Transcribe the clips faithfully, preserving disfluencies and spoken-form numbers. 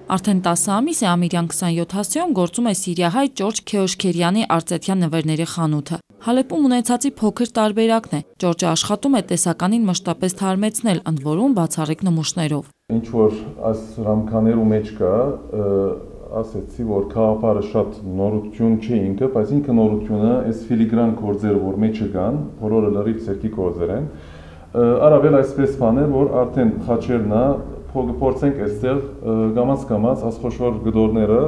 Արդեն տասը ամիս է Ամիրյան քսանյոթ հասցեում գործում է սիրիահայ Ջորջ Քեոշքերյանի արծեթյան նվերների խանութը։ Հալեպում ունեցածի փոքր տարբերակն է։ Ջորջը աշխատում է տեսականին մշտապես թարմեցնել, ընդ որում բացառիկ նմուշներով։ Ինչ որ այս ռամկաներու մեջ կա, ասեցի, որ քաղաքարը շատ նորություն չէ ինքը, բայց ինքը նորությունը այս ֆիլիգրան գործերը, որ մեջը կան, բոլորը լրիվ սերքի գործեր են, առավել այսպես բաներ, որ արդեն խաչերնա փորձենք այստեղ գամած-գամած ասխոշոր գդորները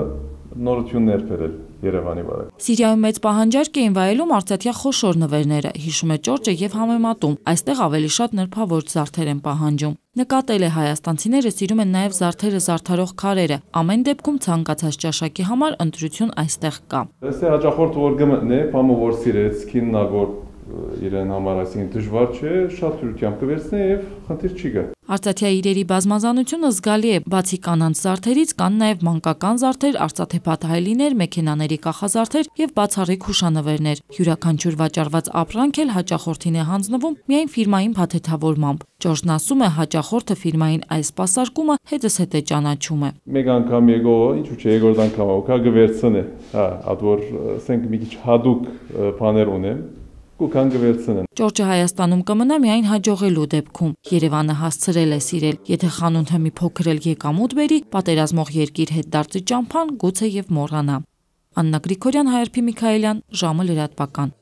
նորություններ բերել Երևանի վրա։ Սիրիայում մեծ պահանջարկ էին վայելում արծաթյա խոշոր նվերները, հիշում է Ջորջը եւ համեմատում, այստեղ ավելի շատ նրբավոր զարդեր են պահանջում։ Նկատել է հայաստանցիները սիրում են նաեւ զարդերը զարդարող քարերը, ամեն դեպքում ցանկացած ճաշակի համար ընտրություն այստեղ կա։ Այստեղ հաճախորդը որ գմտնե, բամը որ սիրեց, քիննա որ իրեն համար այսինքն դժվար չէ, շատ թույլությամբ կվերցնե եւ խնդիր չի գա։ Արծաթյա իրերի բազմազանությունը զգալի է, բացի կանանց զարդերից կան նաև մանկական զարդեր, արծաթեփաթայլիներ, մեքենաների կախազարդեր եւ բացառիկ հուշանվերներ։ Յուրաքանչյուր վաճառված ապրանք էլ հաճախորդին է հանձնվում միայն ֆիրմային փաթեթավորմամբ։ Ջորջն ասում է, հաճախորդը ֆիրմային այս սպասարկումը հետզհետե ճանաչում է։ Մեկ անգամ եկո, ինչու՞ չէ, երկրորդ անգամ օքա գվերցնե։ Հա, այդ որ ասենք մի քիչ հadouk բաներ ունեմ։ Ջորջը Հայաստանում կմնա միայն հաջողելու դեպքում։ Երևանը հասցրել է սիրել, եթե խանութը մի փոքր էլ եկամուտ բերի, պատերազմող երկիր հետ դարձի ճամփան գուցե եւ մոռանա։ Աննա Գրիգորյան, Հայրփի Միքայելյան, ժամը լրատվական։